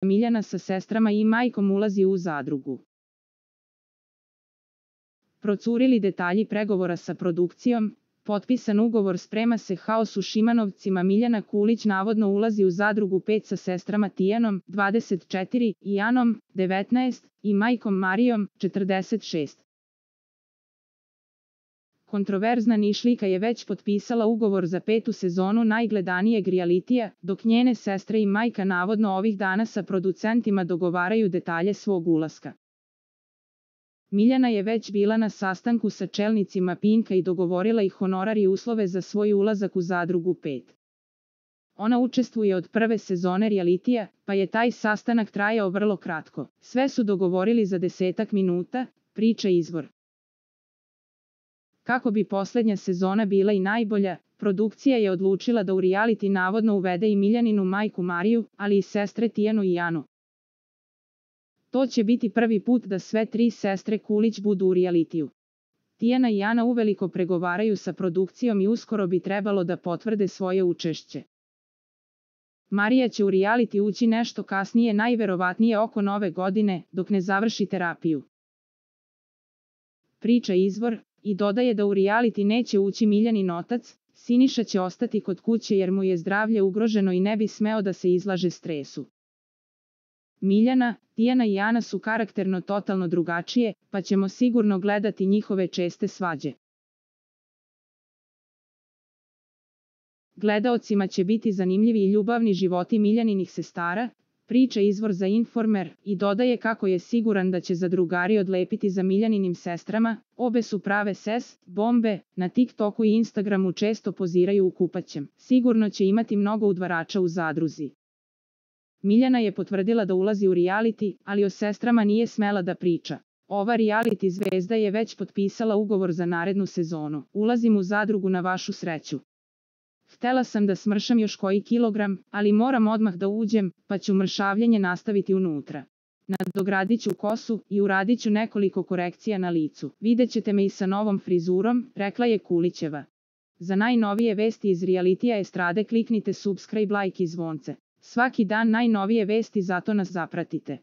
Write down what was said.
Miljana sa sestrama i majkom ulazi u zadrugu. Procurili detalji pregovora sa produkcijom, potpisan ugovor, sprema se haos u Šimanovcima. Miljana Kulić navodno ulazi u zadrugu 5 sa sestrama Tijanom, 24, i Anom, 19, i majkom Marijom, 46. Kontroverzna Nišlijka je već potpisala ugovor za 5. sezonu najgledanijeg realitija, dok njene sestre i majka navodno ovih dana sa producentima dogovaraju detalje svog ulaska. Miljana je već bila na sastanku sa čelnicima Pinka i dogovorila ih honorar i uslove za svoj ulazak u zadrugu 5. Ona učestvuje od prve sezone realitija, pa je taj sastanak trajao vrlo kratko. Sve su dogovorili za 10 minuta, priča izvor. Kako bi posljednja sezona bila i najbolja, produkcija je odlučila da u reality navodno uvede i Miljaninu majku Mariju, ali i sestre Tijanu i Anu. To će biti prvi put da sve 3 sestre Kulić budu u realitiju. Tijana i Ana uveliko pregovaraju sa produkcijom i uskoro bi trebalo da potvrde svoje učešće. Marija će u reality ući nešto kasnije, najverovatnije oko Nove godine, dok ne završi terapiju. Priča izvor, i dodaje da u reality neće ući Miljanin otac. Siniša će ostati kod kuće jer mu je zdravlje ugroženo i ne bi smeo da se izlaže stresu. Miljana, Tijana i Ana su karakterno totalno drugačije, pa ćemo sigurno gledati njihove česte svađe. Gledaocima će biti zanimljivi i ljubavni životi Miljaninih sestara, priča izvor za Informer, i dodaje kako je siguran da će zadrugari odlepiti za Miljaninim sestrama. Obe su prave bombe, na TikToku i Instagramu često poziraju u kupaćem. Sigurno će imati mnogo udvarača u zadruzi. Miljana je potvrdila da ulazi u reality, ali o sestrama nije smela da priča. Ova reality zvezda je već potpisala ugovor za narednu sezonu. Ulazim u zadrugu na vašu sreću. Htela sam da smršam još koji kilogram, ali moram odmah da uđem, pa ću mršavljenje nastaviti unutra. Nadogradit ću kosu i uradit ću nekoliko korekcija na licu. Vidjet ćete me i sa novom frizurom, rekla je Kulićeva. Za najnovije vesti iz realitija estrade kliknite subscribe, like i zvonce. Svaki dan najnovije vesti, zato nas zapratite.